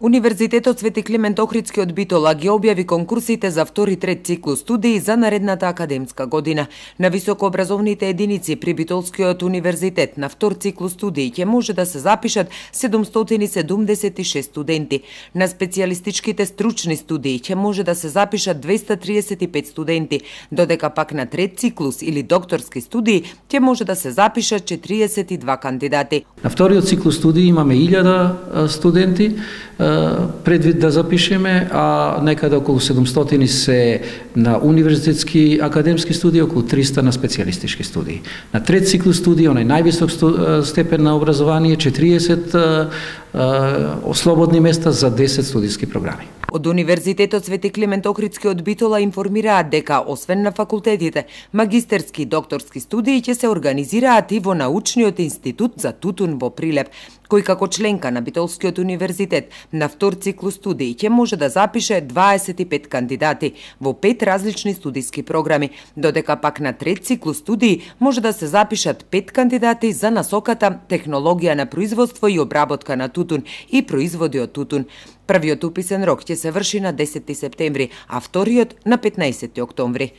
Универзитетот Свети Климент Охридски од Битола ги објави конкурсите за втори трет циклус студии за наредната академска година. На високообразовните единици при Битолскиот универзитет на втор циклус студии ќе може да се запишат 776 студенти. На специјалистичките стручни студии ќе може да се запишат 235 студенти, додека пак на трет циклус или докторски студии ќе може да се запишат 42 кандидати. На вториот циклус студии имаме 1000 студенти предвид да запишеме, а некаде околу 700 се на универзитетски академски студии, околу 300 на специјалистички студии. На трет циклус студии, онај највисок степен на образование, 40 слободни места за 10 студиски програми. Од Универзитетот Свети Климент Охридски од Битола информираат дека, освен на факултетите, магистерски и докторски студии ќе се организираат и во научниот институт за тутун во Прилеп, кој како членка на Битолскиот универзитет на втор циклус студии ќе може да запише 25 кандидати во 5 различни студиски програми, додека пак на трет циклус студии може да се запишат 5 кандидати за насоката технологија на производство и обработка на тутун и производи од тутун. Првиот уписен рок ќе се врши на 10 септември, а вториот на 15 октомври.